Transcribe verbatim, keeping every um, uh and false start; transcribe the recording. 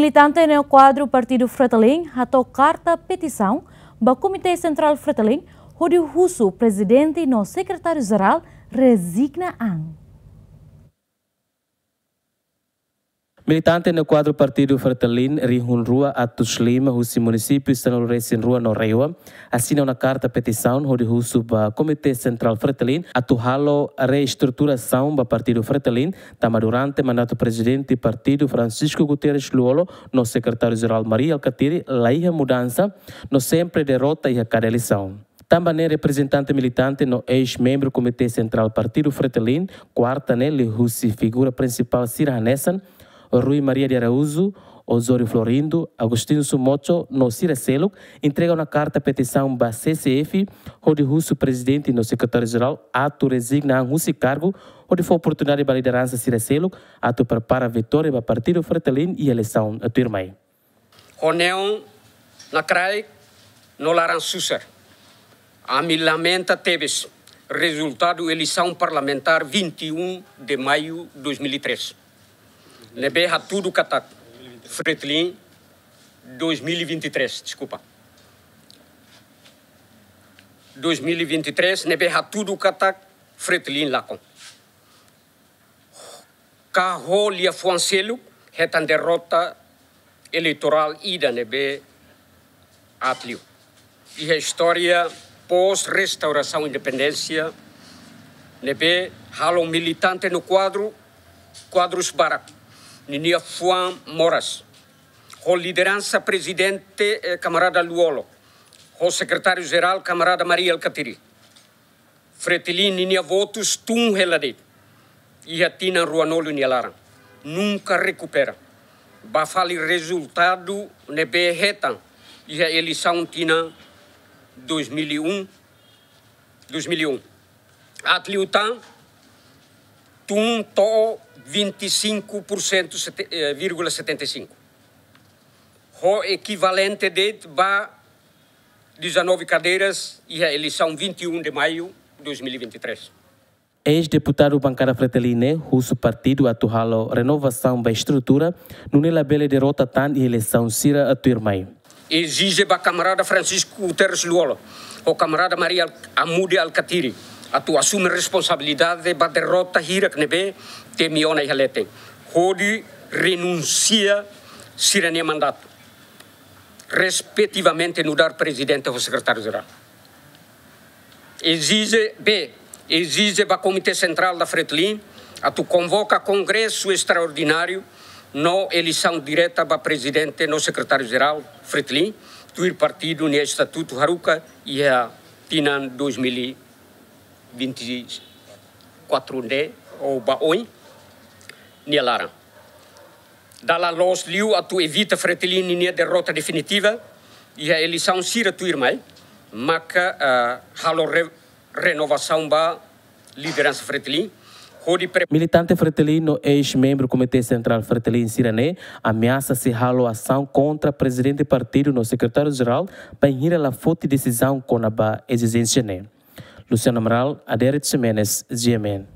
Militante no kuadru Partidu Fretilin hato'o karta petisaun ba Komité Sentrál Fretilin hodi husu prezidente no sekretáriu-jerál rezigna an. Militante no kuadru Partidu Fretilin rihun rua atus lima husi munisípiu sanulu-resin-rua no RAEOA asina ona karta petisaun hodi husu ba Komité Sentrál Fretilin atu halo reestruturasaun ba Partidu Fretilin, tanba durante mandatu prezidente partidu Francisco Guterres Lú-Olo no sekretáriu-jerál Mari Alkatiri la iha mudansa no sempre derrota iha kada eleisaun. Tanba ne'e reprezentante militante no eis-membru Komité Sentrál Partidu Fretilin, kuarta ne'e liuhusi figura prinsipál sira hanesan Rui Maria de Araújo, Osório Florindo, Agostinho Sumocho no sira seluk entrega ona karta petisaun ba C C F hodi husu prezidente no sekretáriu-jerál atu rezigna an husi kargu hodi fó oportunidade ba lideransa sira seluk atu prepara vitória ba Partidu Fretilin iha eleisaun tuirmai. Ho neon na kraik no laran susar, ami lamenta tebes rezultadu eleisaun parlamentár vinte e um de maio dois mil e três ne'ebé hatudu katak Fretilin, dois mil e vinte e três, deskulpa, dois mil e vinte e três ne'ebé hatudu katak Fretilin lakon. Ka ho liafuan seluk hetan derrota eleitorál ida ne'ebé aat liu iha istória pós-restaurasaun independénsia, ne'ebé halo militante no kuadru, kuadrus barak ninia fuan moras, ho lideransa prezidente, eh, kamarada Lú-Olo, ho sekretáriu-jerál kamarada Mari Alkatiri. Fretilin ninia votus tun hela de'it iha tinan ruanulu nia laran, nunka rekupera. Ba fali rezultadu ne'ebé hetan iha eleisaun tinan dois mil e um, dois mil e um. Aat liu tan tun to'o vinte e cinco por cento, sete-, eh, vírgula setenta e cinco. Ho ekivalente de'it ba dezanove cadeiras iha eleisaun vinte e um de maio dois mil e vinte e três. Eis-deputadu bankada Fretilin ne'e husu partidu atu halo renovasaun ba estrutura, nune'e labele derrota tan iha eleisaun sira tuirmai. Ezije ba kamarada Francisco Guterres Lú-Olo ho kamarada Mari Al-, Amude Alkatiri atu asume responsabilidade ba derrota hirak ne'ebé temi ona iha leten, hodi renunsia sira-nia mandatu, respetivamente nu'udar prezidente ho sekretáriu-jerál. Ezije, B, ezije ba Komité Sentrál da Fretilin atu konvoka kongresu estraordináriu no eleisaun direta ba prezidente no sekretáriu-jerál Fretilin, tuir partidu nia estatutu haruka iha tinan dois mil e vinte e quatro ne'e ou ba oin nia laran. Dala loos liu atu evita Fretilin ninia derrota definitiva iha eleisaun sira tuirmai, maka, ah, halo re-, renovasaun ba lideransa Fretilin, hodi pre- Militante Fretilin no eis-membru Komité Sentrál Fretilin sira-ne'e ameasa sei halo asaun kontra prezidente partidu no sekretáriu-jerál bainhira la foti desizaun kona-ba ezijénsia ne'e. Luciano Amaral, Aderet Ximenes, G M N.